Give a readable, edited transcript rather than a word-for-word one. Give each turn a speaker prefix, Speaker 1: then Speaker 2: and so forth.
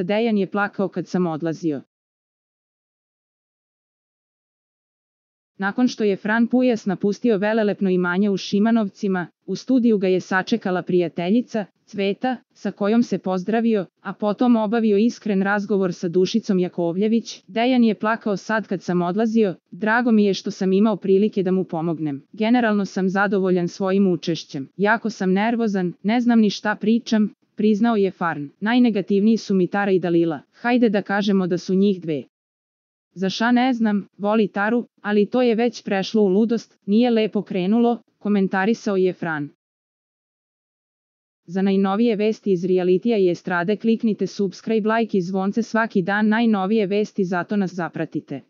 Speaker 1: Dejan je plakao kad sam odlazio. Nakon što je Fran Pujas napustio velelepno imanje u Šimanovcima, u studiju ga je sačekala prijateljica, Cveta, sa kojom se pozdravio, a potom obavio iskren razgovor sa Dušicom Jakovljević. Dejan je plakao sad kad sam odlazio, drago mi je što sam imao prilike da mu pomognem. Generalno sam zadovoljan svojim učešćem. Jako sam nervozan, ne znam ni šta pričam, priznao je Farn. Najnegativniji su mi Tara i Dalila. Hajde da kažemo da su njih dve. Za ša ne znam, voli Taru, ali to je već prešlo u ludost, nije lepo krenulo, komentarisao je Fran. Za najnovije vesti iz realitija i estrade kliknite subscribe, like i zvonce svaki dan, najnovije vesti, zato nas zapratite.